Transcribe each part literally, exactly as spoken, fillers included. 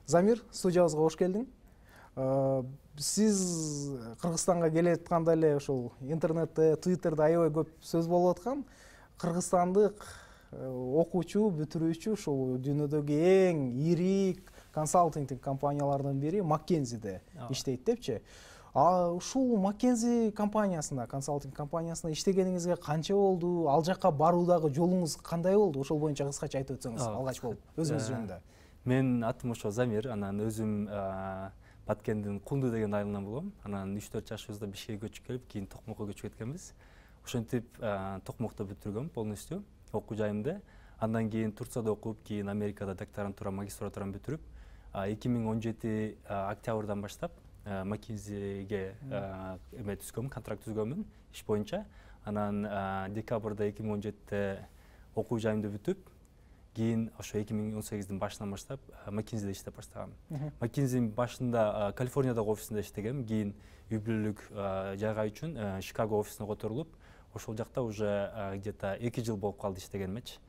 Замир, студиябызга кош келдиң. Сиз Кыргызстанга келе атканда эле ошол интернетте, Twitterде аябай көп сөз болуп аткан. Кыргызстандык окуучу, бүтүрүүчү ушул дүйнөдөгү эң ири консалтингдик компаниялардын бири McKinsey'де иштейт депчи. А ушул McKinsey компаниясында, консалтинг компаниясында иштегениңизге канча болду? Ал жакка баруудагы жолуңуз кандай болду? Ошол боюнча кыскача айтып өтсөңүз, алгач болуп, өзүңүз жөнүндө. Менин атым ошо Замир, анан өзүм Баткендин Кунду деген айылынан болом. Анан үч төрт жашыбызда Бишкекке көчүп келип, кийин Токмокко көчүп кеткенбиз. Ошентип Токмокто бүтүргөм полностью окуу жайымды. Андан кийин Турцияда окуп, кийин Америкада докторантура, магистратураны бүтүрүп, эки миң он жети октябрдан баштап McKinsey'ге эме түзгөм, контракт түзгөмүн иш боюнча. Анан декабрда эки миң он жетиде окуу жайымды бүтүп, кийин ошо эки миң он сегиздин башынан баштап McKinsey'де иштеп баштагам. McKinsey'дин башында Калифорниядагы офисинде иштегем, кийин үй бүлөлүк жайга үчүн Чикаго офисине которулуп, ошол жакта уже где-то эки жыл болуп калды иштегенимечи.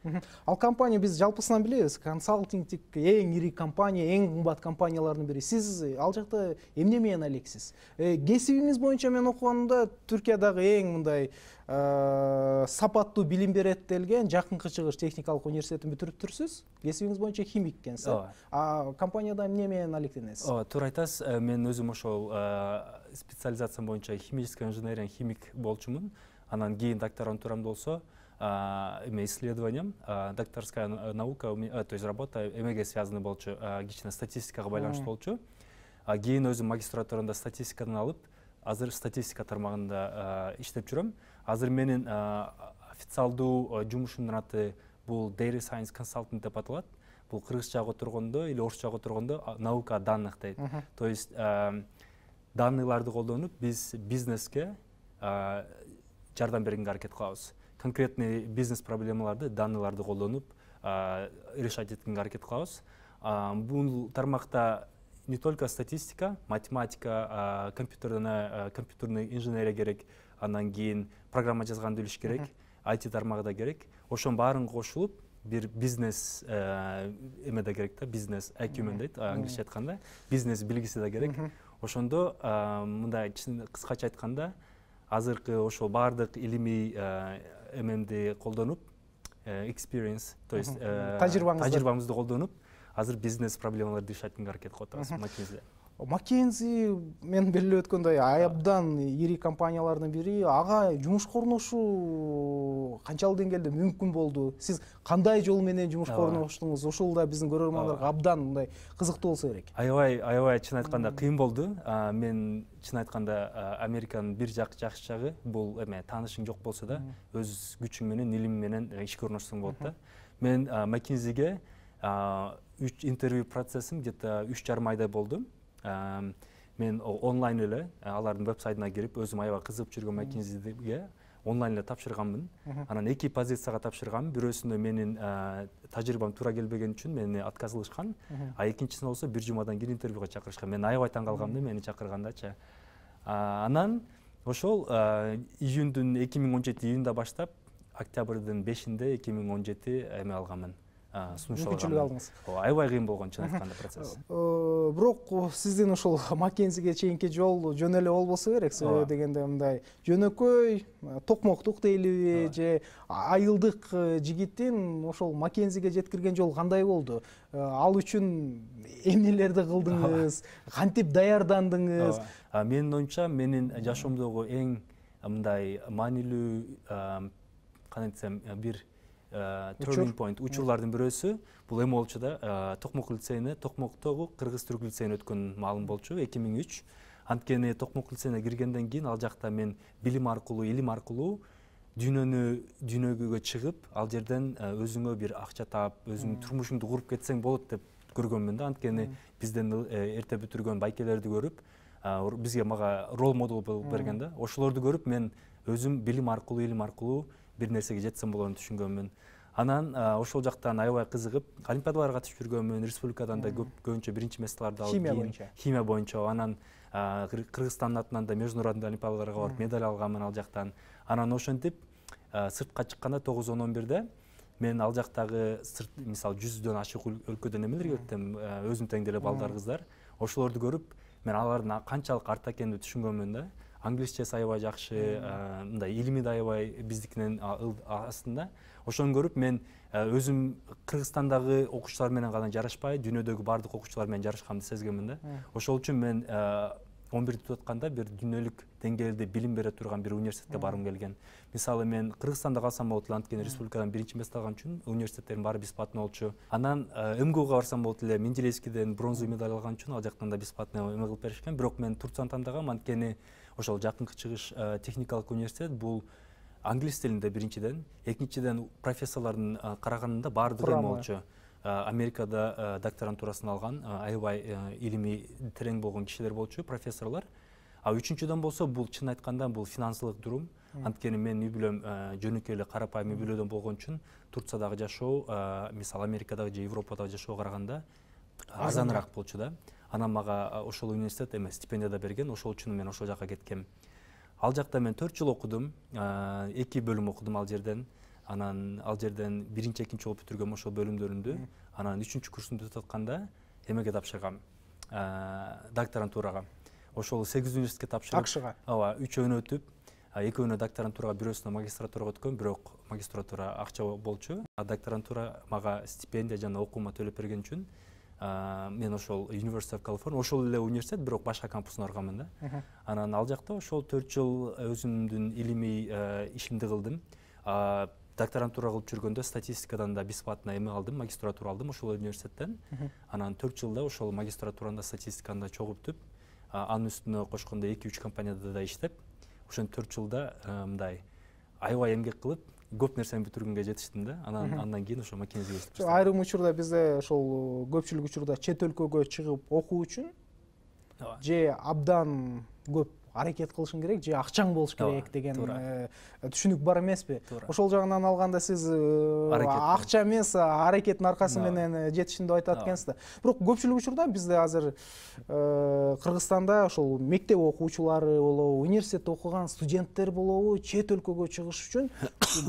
Ал компания биз жалпысынан билебиз, консалтингдик эң ири компания, эң кымбат компаниялардын бири. Сиз ал жакта эмне менен алексиз? Кесибиңиз боюнча мен окуганда Түркиядагы эң мындай сапаттуу билим берет делген Жакынкы Чыгыш техникалык университетин бүтүрүп турсуз. Кесибиңиз боюнча химик экенсиз. А компанияда эмне менен алектенесиз? Ооба, туура айтасыз. Мен өзүм ошол специализациям боюнча химическая инженерия, химик болчумун. Анан кийин докторантурамда болсо, эме исследованием, докторская наука, то есть работа эмеге связаны болчу, кичине статистикага байланыштуу болчу. Кийин өзүм магистратурада статистикадан алып, азыр статистика тармагында иштеп жүрөм. Азыр менин официалдуу жумушумдун аты бул Data Science Consultant деп аталат. Бул кыргызчага отургондо или орусчага отургондо наука данных дейт. То есть данныйларды колдонуп биз бизнеске жардам бергенге аракет кылабыз. Конкретный бизнес проблемаларды данныйларды колдонуп решать эткенге аракет кылабыз. Бул тармакта не только статистика, математика, компьютерная, компьютерный инженерия керек, андан кийин программа жазганды билиш керек, ай ти тармагы да керек. Ошонун баарын кошулуп, бир бизнес эме да керек да, бизнес экюмен дейт, англисче айтканда, бизнес билгиси да керек. Ошондо мындай кыскача айтканда, азыркы ошол баардык илимий эмемди колдонуп, experience, то есть тажрыйбамызды колдонуп, азыр бизнес проблемаларды решать эткенге аракет кылып атабыз McKinsey'де. McKinsey мен белгилеп өткөндөй абдан ири компаниялардын бири. Ага жумушка орношуу канчалык деңгээлде мүмкүн болду? Сиз кандай жол менен жумушка орноштуңуз? Ошол да биздин көрөрмандарга абдан мындай кызыктуу болсо керек. Аябай, аябай чын айтканда кыйын болду. Мен чын айтканда Американын бир жак жакшы жагы бул эме таанышың жок болсо да, өз күчүң менен, илим менен ишке орношсоң болот да. Мен McKinsey'ге үч интервью процессим где-то үч жарым айдай болду. Мен онлайн эле алардын веб-сайтына кирип, өзүм аябай кызыгып жүргөн McKinsey'ге онлайн эле тапшырганмын. Анан эки позицияга тапшыргам. Бирөөсүндө менин тажрыйбам туура келбеген үчүн мени отказ кылышкан. А экинчисинде болсо бир жумадан кийин интервьюга чакырышкан. Мен аябай таң калгам да мени чакыргандачы. Анан ошол июндун эки миң он жети июнда баштап октябрдын бешинде эки миң он жети эме алганмын. Мүмкүнчүлүк алдыңыз. Аябай кыйын болгон чын айтканда процесс. Бирок сиздин ошол McKinsey'ге чейинки жол жөн эле болбосо керек. Себеби дегенде мындай жөнөкөй токмоктук дейлиби же айылдык жигиттин ошол McKinsey'ге жеткирген жол кандай болду? Ал үчүн эмнелерди кылдыңыз? Кантип даярдандыңыз? Менин оюмча, менин жашоомдогу эң мындай маанилүү кандай десем, бир turning point, учурлардын бирөөсү бул эме болчу да, Токмок лицейине, Токмоктогу кыргыз-түрк лицейине өткөн маалым болчу эки миң үч. Анткени Токмок лицейине киргенден кийин ал жакта мен билим аркылуу, илим аркылуу дүйнөнү дүйнөгө чыгып, ал жерден өзүңө бир акча таап, өзүңдүн турмушуңду куруп кетсең болот деп көргөнмүн да. Анткени бизден эрте бүтүргөн байкелерди көрүп, бизге мага рол модел болуп берген да. Ошолорду көрүп мен өзүм билим аркылуу, илим аркылуу бир нерсеге жетсем болоорун түшүнгөнмүн. Анан ошол жактан аябай кызыгып, олимпиадаларга катышып жүргөнмүн, республикадан да көбүнчө биринчи месторду алып, химия боюнча. Химия боюнча. Анан Кыргызстандын атынан да международный олимпиадаларга барып медаль алганмын ал жактан. Анан ошентип сыртка чыкканда тогуз он он бирде мен ал жактагы мисалы жүздөн ашык өлкөдөн эмелерге өттүм, өзүм тең деле балдар кыздар. Ошолорду көрүп, мен алардын канчалык артта экенин түшүнгөнмүн да. Англисчеси аябай жакшы, мындай илими да аябай биздикинен астында. Ошону көрүп мен өзүм Кыргызстандагы окуучулар менен гана жарашпай, дүйнөдөгү бардык окуучулар менен жарашканымды сезгенмин да. Ошол үчүн мен он бирди бүтүп атканда бир дүйнөлүк деңгээлде билим бере турган бир университетке баргым келген. Мисалы мен Кыргызстанда калсам болот эле, анткени республикадан биринчи место алган үчүн университеттердин баары бесплатный болчу. Анан МГУга барсам болот эле, Менделеевскийден бронзовый медаль алган үчүн ал жактан да бесплатный эме кылып беришкен. Бирок мен Турцияны тандагам, анткени ошол жакынкы чыгыш техникалык университет бул англис тилинде биринчиден, экинчиден профессорлордун караганында баардыгы эме болчу. Америкада докторантурасын алган, аябай илимий терең болгон кишилер болчу, профессорлор. А үчүнчүдөн болсо бул чын айтканда бул финансылык дурум. Анткени мен үй бүлөм жөнөкөй эле карапайым үй бүлөдөн болгон үчүн Турциядагы жашоо, мисалы Америкадагы же Европадагы жашоого караганда арзаныраак болчу да. Анан мага ошол университет эме стипендия да берген, ошол үчүн мен ошол жака кеткем. Ал жакта мен төрт жыл окудум, эки бөлүм окудум ал жерден. Анан ал жерден биринчи, экинчи болуп бүтүргөм ошол бөлүмдөрүндү. Анан үчүнчү курсумду бүтүп атканда эмеге тапшыргам, докторантурага. Ошол сегиз университетке тапшырып, акшга. Ооба, үчөөнү өтүп, экөөнү докторантурага, бирөөсүнө магистратурага өткөм, бирок магистратура акча болчу. Докторантура мага стипендия жана окуума төлөп берген үчүн мен ошол University of California, ошол эле университет, бирок башка кампусуна барганмын да. Анан ал жакта ошол төрт жыл өзүмдүн илимий ишимди кылдым. Докторантура кылып жүргөндө статистикадан да бесплатно эме алдым, магистратура алдым ошол университеттен. Анан төрт жылда ошол магистратуранда статистиканы да чогултуп, анын үстүнө кошкондо эки үч компанияда да иштеп, ошон төрт жылда мындай аябай эмгек кылып, көп нерсени бүтүргөнгө жетиштим да. Анан андан кийин ошо макинеге иштеп баштадым. Айрым учурда бизде ошол көпчүлүк учурда чет өлкөгө чыгып окуу үчүн же абдан көп аракет кылышың керек, же акчаң болуш керек деген түшүнүк бар эмеспи? Ошол жагынан алганда сиз акча эмес, аракеттин аркасы менен жетиштим деп айтат экенсиз да. Бирок көпчүлүк учурда бизде азыр Кыргызстанда ошол мектеп окуучулары болобу, университетте окуган студенттер болобу, чет өлкөгө чыгыш үчүн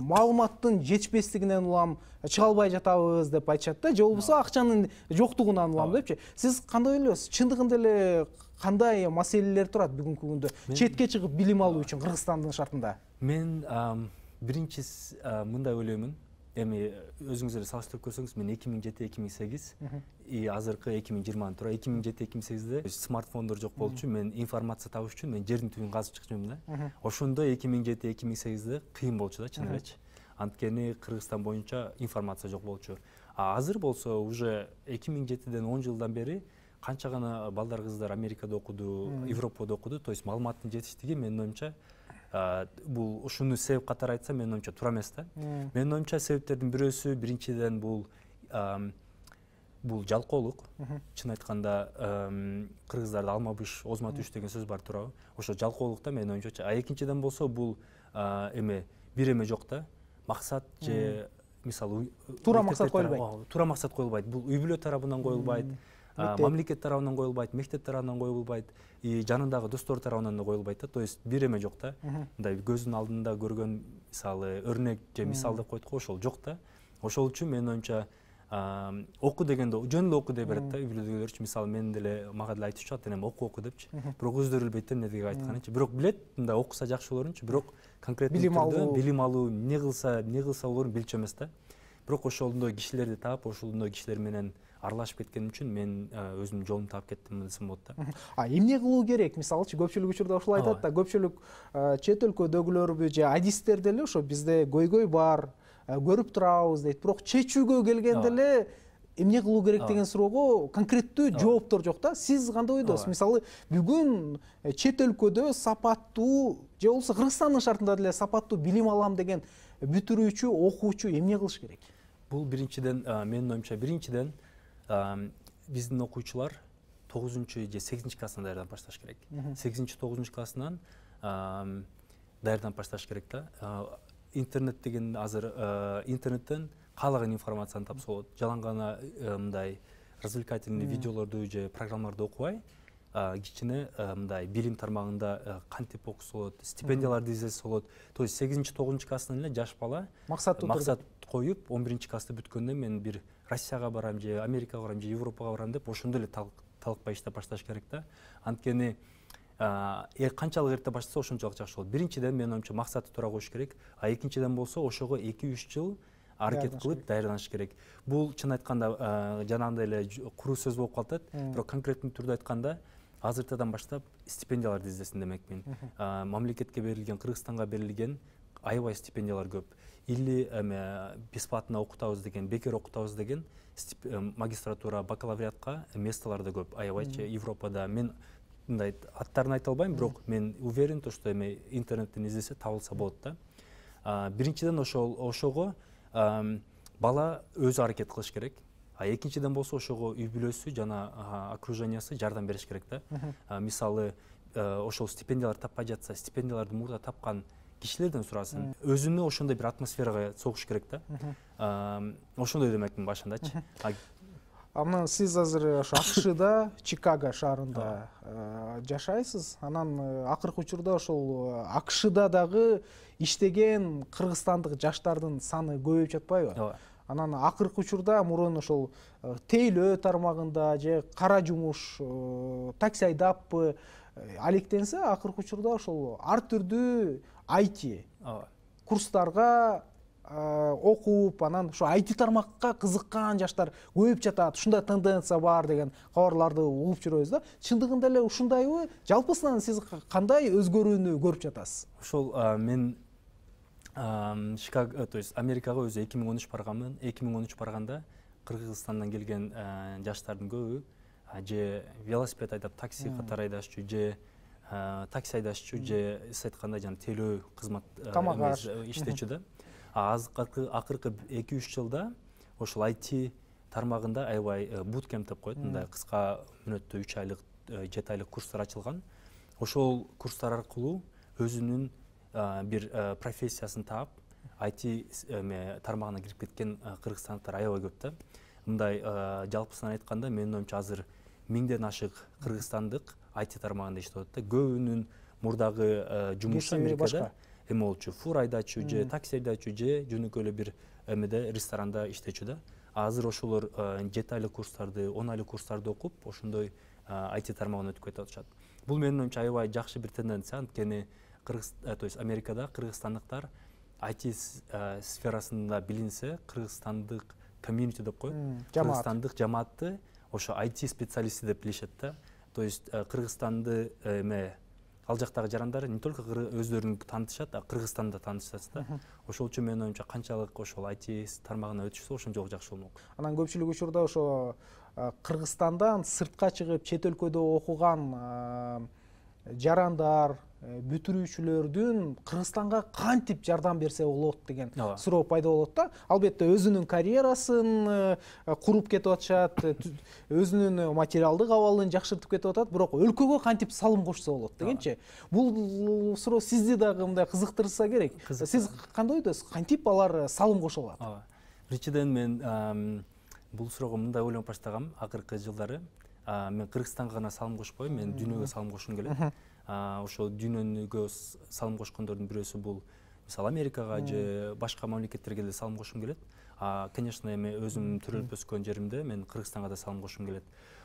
маалыматтын жетишпестигинен улам чыга албай жатабыз деп айтышат да, же болбосо акчанын жоктугунан улам депчи. Сиз кандай ойлойсуз? Чындыгында эле кандай маселелер турат бүгүнкү күндө четке чыгып билим алуу үчүн Кыргызстандын шартында? Мен биринчи мындай ойлоймун. Эми өзүңүз эле салыштырып көрсөңүз, мен эки миң жети эки миң сегиз и азыркы эки миң жыйырма туура эки миң жети эки миң сегизде смартфондор жок болчу. Мен информация табыш үчүн мен жердин түбүн казып чыкчумун да. Ошондо эки миң жети эки миң сегизде кыйын болчу да, чын элечи. Анткени Кыргызстан боюнча информация жок болчу. А азыр болсо уже эки миң жетиден он жылдан бери канча гана балдар кыздар Америкада окуду, Европада окуду, то есть маалыматтын жетиштиги менин оюмча бул ушуну себеп катары айтсам, менин оюмча туура эмес да. Менин оюмча себептердин бирөөсү биринчиден бул бул жалкоолук. Чын айтканда кыргыздарда алма быш, озма түш деген сөз бар, туурабы? Ошо жалкоолукта менин оюмча. А экинчиден болсо бул эме бир эме жок да. Максат же мисалы туура максат коюлбайт. Туура максат коюлбайт. Бул үй бүлө тарабынан коюлбайт. Мамлекет тарабынан коюлбайт, мектеп тарабынан коюлбайт, и жанындагы достор тарабынан да коюлбайт да. То есть бир эме жок да. Мындай көздүн алдында көргөн мисалы өрнөк же мисал деп койдук го, ошол жок да. Ошол үчүн менин оюмча окуу дегенде жөн эле окуу дей берет да, үй бүлөдөгүлөрчү. Мисалы мен деле мага деле айтып чыгат, энем окуу окуу депчи. Бирок өздөрү билбейт да эмне деп айтканынчы. Бирок билет, мындай окуса жакшы болорунчу, бирок конкреттүү түрдө билим алуу, эмне кылса, эмне кылса болорун билчү эмес да. Бирок ошондой кишилерди таап, ошондой кишилер менен аралашып кеткеним үчүн мен өзүмдүн жолумду таап кеттим десем болот да. А эмне кылуу керек? Мисалычы көпчүлүк учурда ушул айтат да, көпчүлүк чет өлкөдөгүлөрбү же адистер деле ошо бизде көйгөй бар, көрүп турабыз дейт. Бирок чечүүгө келгенде эле эмне кылуу керек деген суроого конкреттүү жооптор жок да. Сиз кандай ойдосуз? Мисалы, бүгүн чет өлкөдө сапаттуу же болбосо Кыргызстандын шартында деле сапаттуу билим алам деген бүтүрүүчү, окуучу эмне кылыш керек? Бул биринчиден, менин оюмча, биринчиден биздин окуучулар тогузунчу же сегизинчи класстан даярданып башташ керек. сегизинчи тогузунчу классынан даярданып башташ керек да. Интернет деген азыр интернеттен каалаган информацияны тапса болот. Жалаң гана мындай развлекательный видеолорду же программаларды окубай, кичине мындай билим тармагында кантип окуса болот, стипендияларды издесе болот. То есть сегизинчи тогузунчу класстан эле жаш бала максат коюп он биринчи класста бүткөндө мен бир Россияга барам же Америкага барам же Европага барам деп ошондо эле талыкпай иштеп башташ керек да. Анткени канчалык эрте баштаса ошончолук жакшы болот. Биринчиден менин оюмча максаты туура коюш керек, а экинчиден болсо ошого эки үч жыл аракет кылып даярданыш керек. Бул чын айтканда жанагындай эле куру сөз болуп калат, бирок конкреттүү түрдө айтканда азыртадан баштап стипендияларды издесин демекмин. Мамлекетке берилген, Кыргызстанга берилген аябай стипендиялар көп. Или эме бесплатно окутабыз деген, бекер окутабыз деген магистратура, бакалавриатка местолор да көп. Аябайчы Европада. Мен мындай аттарын айта албайм, бирок мен уверен то, что эме интернеттен издесе табылса болот да. Биринчиден ошол ошого бала өзү аракет кылыш керек. А экинчиден болсо ошого үй бүлөсү жана окружениясы жардам бериш керек да. Мисалы, ошол стипендиялар таппай жатса, стипендияларды мурда тапкан кишилерден сурасын. Өзүнө ошондой бир атмосферага согуш керек да. Ошондой демекмин башындачы. Анан сиз азыр ошо АКШда, Чикаго шаарында жашайсыз. Анан акыркы учурда ошол АКШда дагы иштеген кыргызстандык жаштардын саны көбөйүп жатпайбы? Ооба. Анан акыркы учурда мурун ошол тейлөө тармагында же кара жумуш, такси айдаппы алектенсе, акыркы учурда ошол ар түрдүү ай ти курстарга окуп, анан ошо ай ти тармакка кызыккан жаштар көбөйүп жатат. Ушундай тенденция бар деген кабарларды угуп жүрөбүз да. Чындыгында эле ушундайбы? Жалпысынан сиз кандай өзгөрүүнү көрүп жатасыз? Ошол мен Чикаго, то есть Америкага өзү эки миң он үч барганмын. эки миң он үч барганда Кыргызстандан келген жаштардын көбү же велосипед айдап такси катары айдашчу, же такси айдашчу, же сиз айткандай жана тейлөө кызмат иштечү да. Акыркы эки үч жылда ошол ай ти тармагында аябай буткемп деп коет, мындай кыска мүнөттүү үч айлык, жети айлык курстар ачылган. Ошол курстар аркылуу өзүнүн бир профессиясын таап, ай ти тармагына кирип кеткен кыргызстандыктар аябай көп да. Мындай жалпысынан айтканда, менин оюмча азыр миңден ашык кыргызстандык ай ти тармагында иштеп атат да. Көбүнүн мурдагы жумушу Америкада эме болчу, фура айдачу, же такси айдачу, же жөнөкөй эле бир эмеде ресторанда иштечү да. Азыр ошолор жети айлык курстарды, он айлык курстарды окуп, ошондой ай ти тармагына өтүп кетип атышат. Бул менин оюмча аябай жакшы бир тенденция, анткени Кыргыз, то есть Америкада кыргызстандыктар ай ти сферасында билинсе, кыргызстандык комьюнити деп коет, кыргызстандык жамаатты ошо ай ти специалисти деп билишет да. То есть Кыргызстанды эме ал жактагы жарандар не только өздөрүн таанытышат, а Кыргызстанды да таанытышат да. Ошол үчүн менин оюмча канчалык ошол ай ти тармагына өтүшсө, ошончолук жакшы болмок. Анан көпчүлүк учурда ошо Кыргызстандан сыртка чыгып чет өлкөдө окуган жарандар, бүтүрүүчүлөрдүн Кыргызстанга кантип жардам берсе болот деген суроо пайда болот да. Албетте өзүнүн карьерасын куруп кетип атышат, өзүнүн материалдык абалын жакшыртып кетип атат, бирок өлкөгө кантип салым кошсо болот дегенчи. Бул суроо сизди дагы мындай кызыктырса керек. Сиз кандай ойдосуз? Кантип алар салым кошо алат? Ооба. Биринчиден мен бул суроого мындай ойлонуп баштагам акыркы жылдары. Мен Кыргызстанга гана салым кошпойм, мен дүйнөгө салым кошкум келет. Ошол дүйнөгө салым кошкондордун бирөөсү бул мисалы Америкага же башка мамлекеттерге да салым кошкум келет. Конечно, эми өзүм төрөлүп өскөн жеримде мен Кыргызстанга да салым кошкум келет.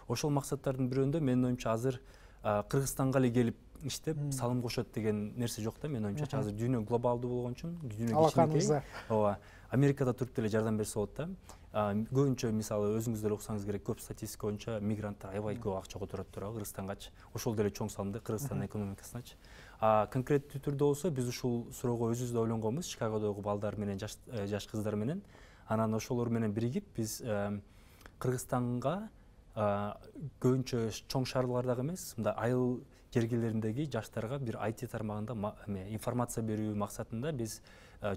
Ошол максаттардын бирөөндө менин оюмча азыр Кыргызстанга эле келип иштеп салым кошот деген нерсе жок да. Менин оюмча азыр дүйнө глобалдуу болгон үчүн, дүйнө кичинекей. Ооба. Америкада туруп деле жардам берсе болот да. Көбүнчө мисалы өзүңүз деле уксаңыз керек, көп статистика боюнча мигранттар аябай көп акча которот турабы Кыргызстангачы. Ошол деле чоң салым да Кыргызстандын экономикасыначы. А конкреттүү түрдө болсо биз ушул суроого өзүбүз да ойлонгонбуз, Чикагодогу балдар менен, жаш жаш кыздар менен. Анан ошолор менен биригип биз Кыргызстанга көбүнчө чоң шаарлардагы эмес, мындай айыл жергелериндеги жаштарга бир ай ти тармагында информация берүү максатында биз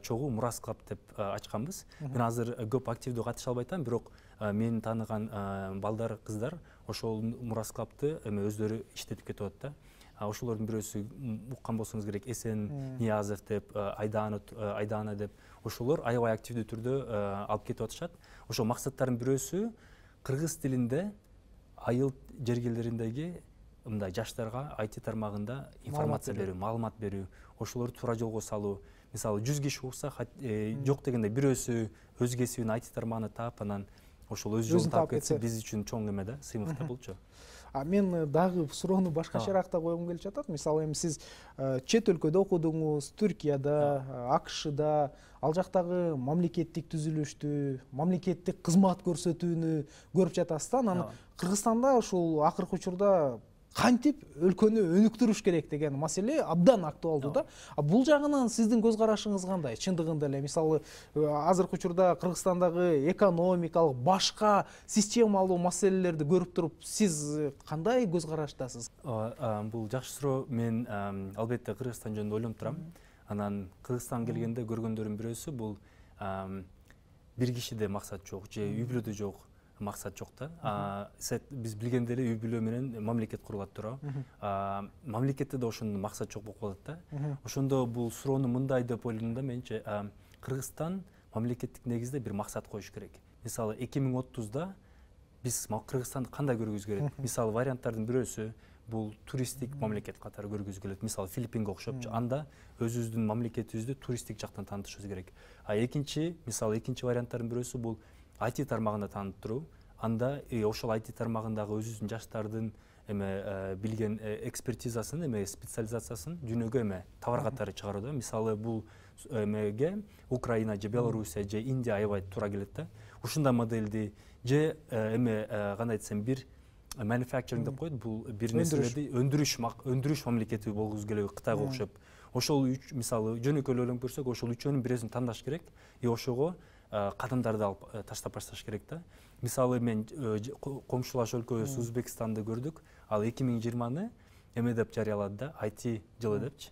чогуу Мурас клуб деп ачканбыз. Мен азыр көп активдүү катыша албай атам, бирок менин тааныган балдар, кыздар ошол Мурас клубду эме өздөрү иштетип кетип атат да. Ошолордун бирөөсү уккан болсоңуз керек, Эсен Ниязов деп, Айдана Айдана деп, ошолор аябай активдүү түрдө алып кетип атышат. Ошол максаттардын бирөөсү кыргыз тилинде айыл жергелериндеги мындай жаштарга ай ти тармагында информация берүү, маалымат берүү, ошолорду туура жолго салуу. Мисалы жүз киши укса, жок дегенде бирөөсү өз кесибин ай ти тармагына таап, анан ошол өз жолун таап кетсе, биз үчүн чоң эме да, сыймык да болчу. А мен дагы суроону башкачараак коюм келип жатат. Мисалы эми сиз чет өлкөдө окудуңуз, Түркияда, АКШда, ал жактагы мамлекеттик түзүлүштү, мамлекеттик кызмат көрсөтүүнү көрүп жатасыз да. Анан Кыргызстанда ушул акыркы учурда кантип өлкөнү өнүктүрүш керек деген маселе абдан актуалдуу да. Бул жагынан сиздин көз карашыңыз кандай? Чындыгында эле мисалы азыркы учурда Кыргызстандагы экономикалык башка системалуу маселелерди көрүп туруп, сиз кандай көз караштасыз? Бул жакшы суроо. Мен албетте Кыргызстан жөнүндө ойлонуп турам. Анан Кыргызстан келгенде көргөндөрүм бирөөсү бул бир кишиде максат жок же үй бүлөдө жок максат жок да. Биз билгендей эле үй бүлө менен мамлекет курулат туурабы. Мамлекетте да ошондо максат жок болуп калат да. Ошондо бул суроону мындай деп ойлойм да менчи, Кыргызстан мамлекеттик негизде бир максат коюш керек. Мисалы эки миң отузда биз Кыргызстанды кандай көргүбүз келет? Мисалы варианттардын бирөөсү бул туристтик мамлекет катары көргүбүз келет. Мисалы Филиппинге окшопчу. Анда өзүбүздүн мамлекетибизди туристтик жактан таанытышыбыз керек. А экинчи, мисалы экинчи варианттардын бирөөсү бул ай ти тармагында таанытыруу. Анда ошол ай ти тармагындагы өзүбүздүн жаштардын эме билген экспертизасын, эме специализациясын дүйнөгө эме товар катары чыгаруу да. Мисалы бул эмеге Украина же Белоруссия же Индия аябай туура келет да. Ушундай модельди же эме кандай десем бир manufacturing деп коет, бул бир нерселерди өндүрүш өндүрүш мамлекети болгубуз келеби Кытайга окшоп. Ошол үч мисалы жөнөкөй ойлонуп көрсөк, ошол үчөөнүн бирөөсүн тандаш керек и ошого кадамдарды алып таштап башташ керек да. Мисалы мен комшулаш өлкөбүз Өзбекстанды көрдүк. Ал эки миң жыйырманы эме деп жарыялады да, ай ти жылы депчи.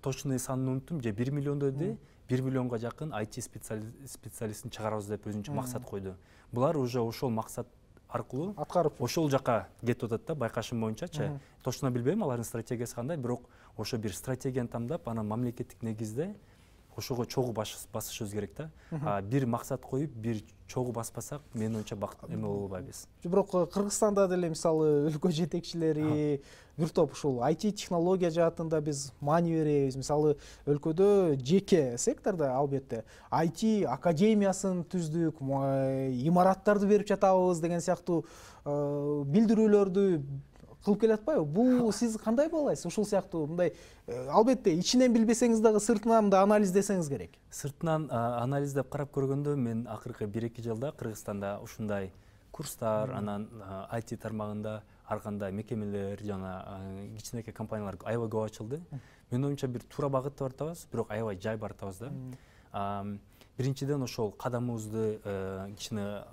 Точный санын унуттум, же бир миллион деди, бир миллионго жакын ай ти специалистин чыгарабыз деп өзүнчө максат койду. Булар уже ошол максат аркылуу аткарып ошол жака кетип атат да, байкашым боюнчачы. Точно билбейм алардын стратегиясы кандай, бирок ошо бир стратегияны тамдап, анан мамлекеттик негизде ошого чогуу басышыбыз керек да. Бир максат коюп, бир чогуу баспасак, менин оюмча бакыт эме боло албайбыз. Бирок Кыргызстанда деле мисалы өлкө жетекчилери бир топ ушул ай ти технология жаатында биз маани беребиз. Мисалы өлкөдө жеке сектордо албетте ай ти академиясын түздүк, имараттарды берип жатабыз деген сыяктуу билдирүүлөрдү кылып келатпайбы? Бул сиз кандай баалайсыз? Ушул сыяктуу мындай албетте ичинен билбесеңиз дагы сыртынан мындай анализдесеңиз керек. Сыртынан анализдеп карап көргөндө мен акыркы бир эки жылда Кыргызстанда ушундай курстар, анан ай ти тармагында ар кандай мекемелер жана кичинекей компаниялар аябай көп ачылды. Менин оюмча бир туура багытта баратабыз, бирок аябай жай баратабыз да. Биринчиден ошол кадамыбызды кичине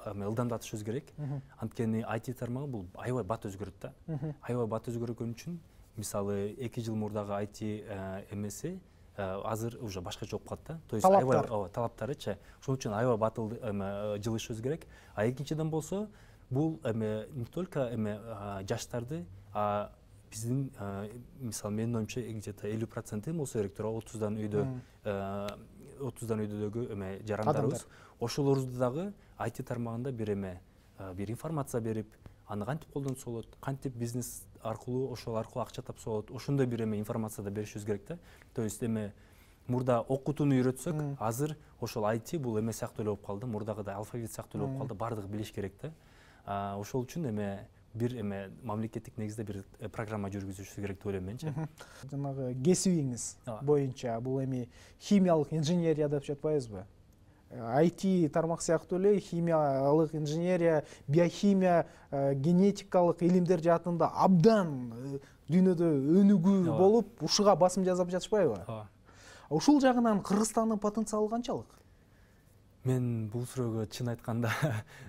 ылдамдатышыбыз керек. Анткени ай ти тармагы бул аябай бат өзгөрөт да. Аябай бат өзгөргөн үчүн мисалы эки жыл мурдагы ай ти эмеси азыр уже башкача болуп калат да. То есть аябай талаптарычы. Ошон үчүн аябай батыл эме жылышыбыз керек. А экинчиден болсо бул эме не только эме жаштарды, а биздин мисалы менин оюмча где-то элүү проценти болсо керек туурабы, отуздан үйдө отуздан үйдөгү эме жарандарыбыз. Ошолорду дагы ай ти тармагында бир эме бир информация берип, аны кантип колдонсо болот, кантип бизнес аркылуу ошол аркылуу акча тапса болот, ошондой бир эме информация да беришибиз керек да. То есть эме мурда окутууну үйрөтсөк, азыр ошол ай ти бул эме сыяктуу эле болуп калды, мурдагыдай алфавит сыяктуу эле болуп калды, бардыгы билиш керек да. Ошол үчүн эме бир эме мамлекеттик негизде бир программа жүргүзүшү керек деп ойлойм менчи. Жанагы кесибиңиз боюнча бул эми химиялык инженерия деп жатпайбызбы? ай ти тармак сыяктуу эле химиялык инженерия, биохимия, генетикалык илимдер жаатында абдан дүйнөдө өнүгүү болуп, ушуга басым жасап жатышпайбы? Ушул жагынан Кыргызстандын потенциалы канчалык? Мен бул суроого чын айтканда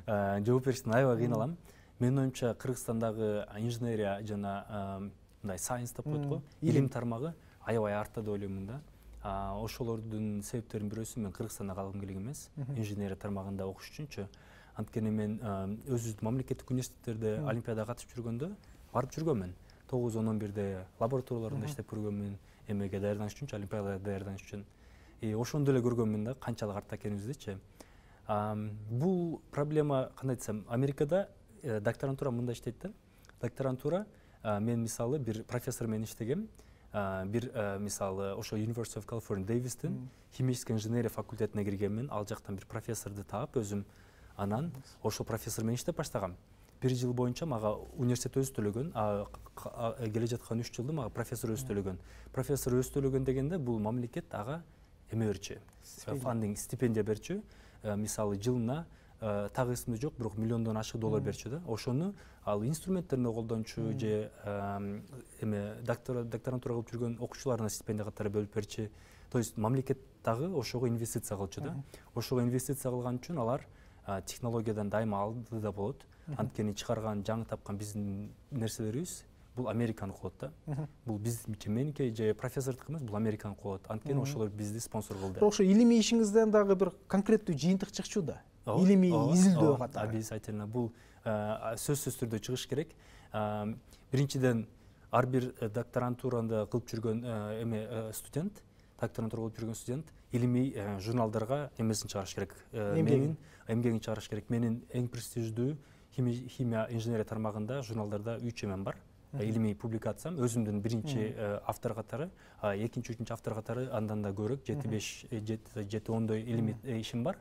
жооп бериштен аябай кыйналам. Менин оюмча Кыргызстандагы инженерия жана мындай сайенс деп коет го, илим тармагы аябай артта деп ойлоймун да. Ошолордун себептеринин бирөөсү мен Кыргызстанда калгым келген эмес, инженерия тармагында окуш үчүнчү. Анткени мен өзүбүздүн мамлекеттик университеттерде олимпиадага катышып жүргөндө барып жүргөнмүн. тогуз он он бирде лабораторияларында иштеп көргөнмүн, эмеге даярданыш үчүнчү, олимпиадага даярданыш үчүн. И ошондо эле көргөнмүн да канчалык артта экенибиздичи. Бул проблема кандай десем, Америкада докторантура мындай иштейт да. докторантура мен мисалы бир профессор менен иштегем. Бир мисалы ошо University of California Davis'тин химическая инженерия факультетине киргенмин. Ал жактан бир профессорду таап өзүм анан ошол профессор менен иштеп баштагам. Бир жыл боюнча мага университет өзү төлөгөн, келе жаткан үч жылды мага профессор өзү төлөгөн. Профессор өзү төлөгөн дегенде бул мамлекет ага эме берчү, фандинг, стипендия берчү. Мисалы жылына так эсимде жок, бирок миллиондон ашык доллар берчү да. Ошону ал инструменттерине колдончу же эме докторантура кылып жүргөн окуучуларына стипендия катары бөлүп берчү. То есть мамлекет дагы ошого инвестиция кылчу да. Ошого инвестиция кылган үчүн алар технологиядан дайыма алдыда болот. Анткени чыгарган, жаңы тапкан биздин нерселерибиз бул Американыкы болот да. Бул биздики меники же профессордуку эмес, бул Американыкы болот. Анткени ошолор бизди спонсор кылды. Ошо илимий ишиңизден дагы бир конкреттүү жыйынтык чыкчу да. Илимий изилдөө катары. Обязательно бул сөзсүз түрдө чыгыш керек. Биринчиден ар бир докторантураны кылып жүргөн эме студент, докторантура кылып жүргөн студент илимий журналдарга эмесин чыгарыш керек. Менин эмгегин чыгарыш керек. Менин эң престиждүү химия инженерия тармагында журналдарда үч эмем бар. Илимий публикациям өзүмдүн биринчи автор катары, экинчи, үчүнчү автор катары андан да көбүрөөк, жети беш, жети ондой илимий ишим бар.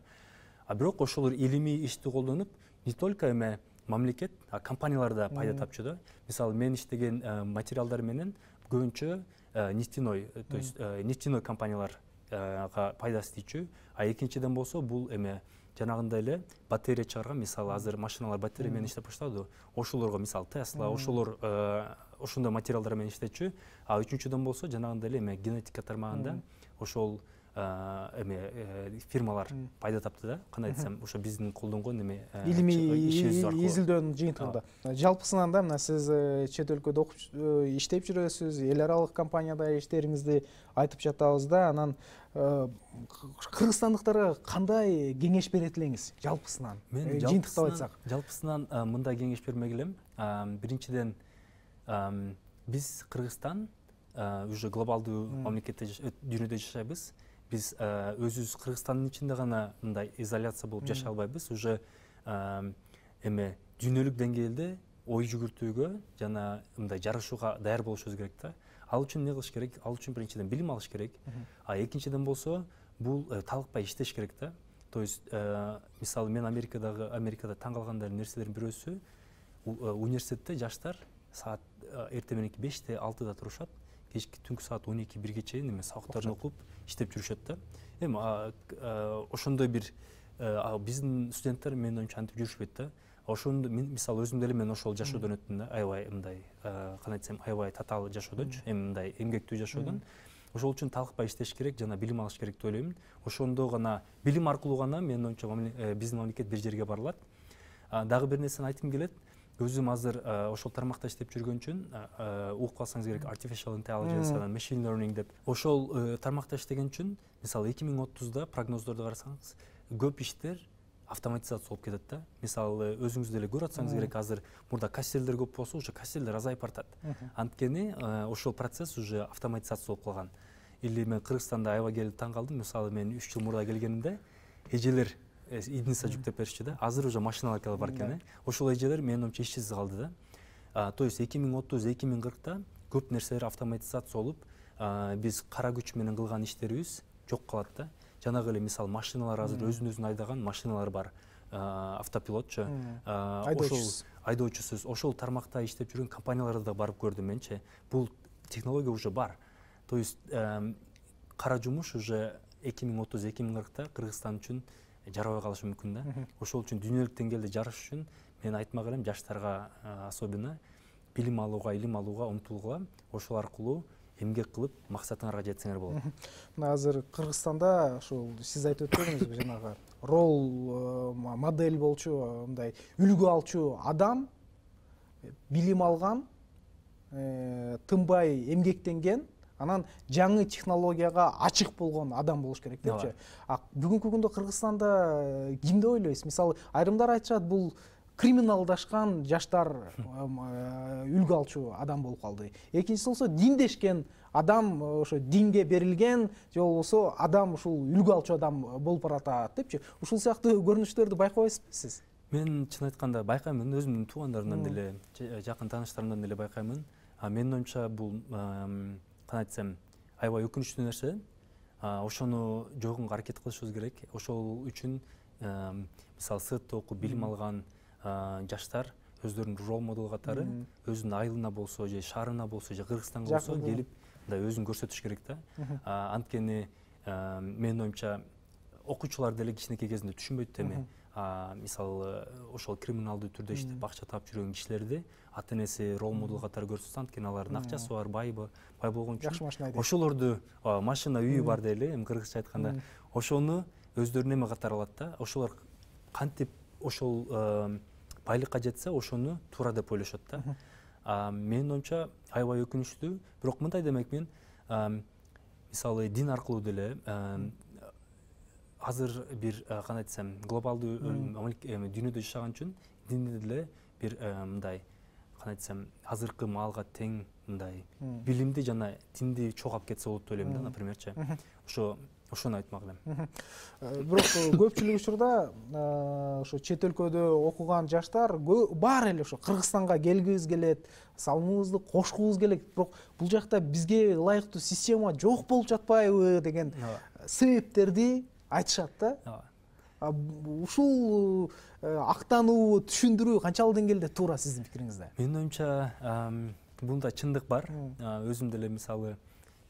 А бирок ошолор илимий ишти колдонуп, не только эме мамлекет, а компаниялар да пайда тапчу да. Мисалы, мен иштеген материалдар менен көбүнчө нефтяной, то есть нефтяной компанияларга пайдасы тийчү. А экинчиден болсо бул эме жанагындай эле батарея чыгарган, мисалы азыр машиналар батарея менен иштеп баштады. Ошолорго мисалы Tesla, ошолор ошондой материалдар менен иштечү. А үчүнчүдөн болсо жанагындай эле эме генетика тармагында ошол эме фирмалар пайда тапты да. Кандай десем, ошо биздин колдонгон эме илимий изилдөөнүн жыйынтыгында. Жалпысынан да мына сиз чет өлкөдө окуп иштеп жүрөсүз, эл аралык компанияда иштериңизди айтып жатабыз да. Анан кыргызстандыктарга кандай кеңеш берет элеңиз жалпысынан? Мен жыйынтыктап айтсак. Жалпысынан мындай кеңеш бермек элем. Биринчиден биз Кыргызстан уже глобалдуу мамлекетте дүйнөдө жашайбыз. Биз өзүбүз Кыргызстандын ичинде гана мындай изоляция болуп жашай албайбыз. Уже эме дүйнөлүк деңгээлде ой жүгүртүүгө жана мындай жарышууга даяр болушубуз керек да. Ал үчүн эмне кылыш керек? Ал үчүн биринчиден билим алыш керек. А экинчиден болсо бул талыкпай иштеш керек да. То есть мисалы мен Америкадагы Америкада таң калган нерселердин бирөөсү, университетте жаштар саат эрте мененки беште, алтыда турушат. Кечки түнкү саат он эки бирге чейин эме сабактарын окуп иштеп жүрүшөт да. Эми ошондой бир биздин студенттер менин оюмча антип жүрүшпөйт да. Ошондо мен мисалы өзүм деле мен ошол жашоодон өттүм да. Аябай мындай кандай десем, аябай татаал жашоодончу, эми мындай эмгектүү жашоодон. Ошол үчүн талыкпай иштеш керек жана билим алыш керек деп ойлойм. Ошондо гана билим аркылуу гана менин оюмча биздин мамлекет бир жерге бара алат. Дагы бир нерсени айткым келет. Өзүм азыр ошол тармакта иштеп жүргөн үчүн угуп калсаңыз керек artificial intelligence анан machine learning деп. Ошол тармакта иштеген үчүн мисалы эки миң отузда прогноздорду карасаңыз көп иштер автоматизация болуп кетет да. Мисалы өзүңүз деле көрүп атсаңыз керек, азыр мурда кассирлер көп болсо, уже кассирлер азайып бартат. Анткени ошол процесс уже автоматизация болуп калган. Или мен Кыргызстанда аябай келип таң калдым. Мисалы мен үч жыл мурда келгенимде эжелер идница жүктөп беришчи да. Азыр уже машиналар келип бар экен. Ошол эжелер менин оюмча ишсиз калды да. То есть эки миң отуз эки миң кыркта көп нерселер автоматизация болуп, биз кара күч менен кылган иштерибиз жок калат да. Жанагы эле мисалы машиналар азыр өзүн өзүн айдаган машиналар бар. Автопилотчу, ошол айдоочусуз, ошол тармакта иштеп жүргөн компанияларда да барып көрдүм менчи. Бул технология уже бар. То есть кара жумуш уже эки миң отуз эки миң кыркта Кыргызстан үчүн жарабай калышы мүмкүн да. Ошол үчүн дүйнөлүк деңгээлде жарыш үчүн мен айтмак элем жаштарга особенно билим алууга, илим алууга умтулгула. Ошол аркылуу эмгек кылып максатыңарга жетсеңер болот. Мына азыр Кыргызстанда ошол сиз айтып өттүңүз жанагы рол модель болчу, мындай үлгү алчу адам, билим алган, тынбай эмгектенген, анан жаңы технологияга ачык болгон адам болуш керек депчи. А бүгүнкү күндө Кыргызстанда кимди ойлойсуз? Мисалы, айрымдар айтышат, бул криминалдашкан жаштар үлгү алчу адам болуп калды. Экинчиси болсо диндешкен адам, ошо динге берилген, же болбосо адам ушул үлгү алчу адам болуп баратат депчи. Ушул сыяктуу көрүнүштөрдү байкабайсызбы сиз? Мен чын айтканда байкаймын, өзүмдүн туугандарымдан деле, жакын тааныштарымдан деле байкаймын. Менин оюмча бул кандай айтсам, аябай өкүнүчтүү нерсе. Ошону жойгонго аракет кылышыбыз керек. Ошол үчүн мисалы сыртта окуп билим алган жаштар өздөрүн рол модел катары өзүнүн айылына болсо же шаарына болсо же Кыргызстанга болсо келип мындай өзүн көрсөтүш керек да. Анткени менин оюмча окуучулар деле кичинекей кезинде түшүнбөйт эми. Мисалы ошол криминалдуу түрдө иштеп акча таап жүргөн кишилерди ата энеси рол модел катары көрсөтсө, анткени алардын акчасы бар, байбы, бай болгон үчүн жакшы машина айдайт. Ошолорду машина, үйү бар дейли, эми кыргызча айтканда, ошону өздөрүнүн эме катары алат да. Ошолор кантип ошол байлыкка жетсе, ошону туура деп ойлошот да. Менин оюмча аябай өкүнүчтүү, бирок мындай демек мен мисалы дин аркылуу деле азыр бир кандай айтсам, глобалдуу дүйнөдө жашаган үчүн динди деле бир мындай кандай айтсам, азыркы маалга тең мындай билимди жана динди чогуу алып кетсе болот деп ойлойм да, напримерчи. Ошо ошону айтмак элем. Бирок көпчүлүк учурда ошо чет өлкөдө окуган жаштар баары эле ошо Кыргызстанга келгибиз келет, салымыбызды кошкубуз келет, бирок бул жакта бизге ылайыктуу система жок болуп жатпайбы деген себептерди айтышат да. Ушул актануу, түшүндүрүү канчалык деңгээлде туура сиздин пикириңизде? Менин оюмча бунда чындык бар. Өзүм деле мисалы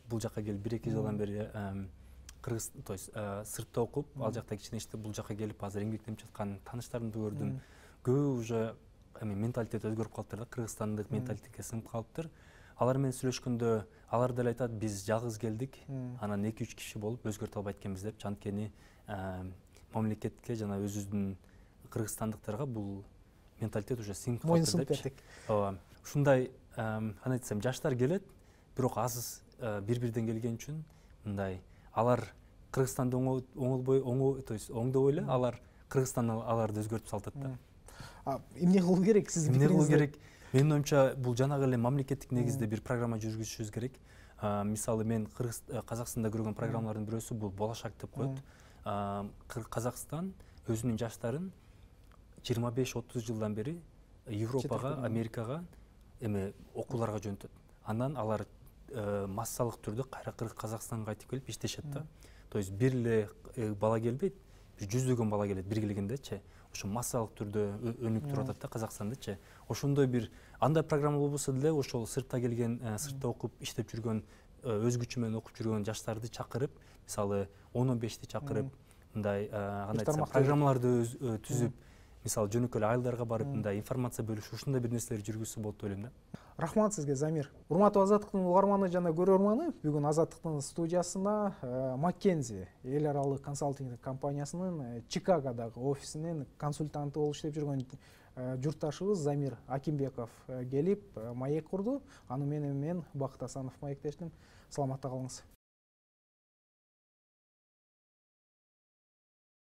бул жака келип бир эки жылдан бери кыргыз, то есть сыртта окуп, ал жакта кичине иштеп, бул жака келип азыр эмгектенип жаткан тааныштарымды көрдүм. Көбү уже эми менталитет өзгөрүп калыптыр да, кыргызстандык менталитетке сиңип калыптыр. Алар менен сүйлөшкөндө алар деле айтат, биз жалгыз келдик, анан эки үч киши болуп өзгөртө албайт экенбиз деп. Анткени мамлекетке жана өзүбүздүн кыргызстандыктарга бул менталитет уже сиңип калыптыр депчи. Ооба. Ушундай кандай айтсам, жаштар келет, бирок аз бири-бирден келген үчүн мындай алар Кыргызстанды оңолбой, то есть оңдой эле, алар Кыргызстан аларды өзгөртүп салатат да. Эмне кылуу керек сиздин пикириңизде? Эмне кылуу керек? Менин оюмча бул жанагы эле мамлекеттик негизде бир программа жүргүзүшүбүз керек. Мисалы мен Казакстанда көргөн программалардын бирөөсү бул болашак деп коет. Казакстан өзүнүн жаштарын жыйырма беш отуз жылдан бери Европага, Америкага эме окууларга жөнөтөт. Андан алар массалык түрдө кайра Казакстанга кайтып келип иштешет да. То есть бир эле бала келбейт, бир жүздөгөн бала келет бир келгендечи. Ошо массалык түрдө өнүгүп туруп атат да Казакстандычы. Ошондой бир андай программа болбосо деле, ошол сыртта келген, сыртта окуп иштеп жүргөн, өз күчү менен окуп жүргөн жаштарды чакырып, мисалы он он бешти чакырып, мындай кандай айтсам, программаларды түзүп, мисалы жөнөкөй эле айылдарга барып, мындай информация бөлүшүп, ушундай бир нерселерди жүргүзсө болот деп ойлойм да. Рахмат сизге, Замир. Урматтуу Азаттыктын угарманы жана көрөрманы, бүгүн Азаттыктын студиясына Маккензи эл аралык консалтинг компаниясынын Чикагодагы офисинин консультанты болуп иштеп жүргөн журтташыбыз Замир Акимбеков келип маек курду. Аны менен мен Бакыт Асанов маектештим. Саламатта калыңыз.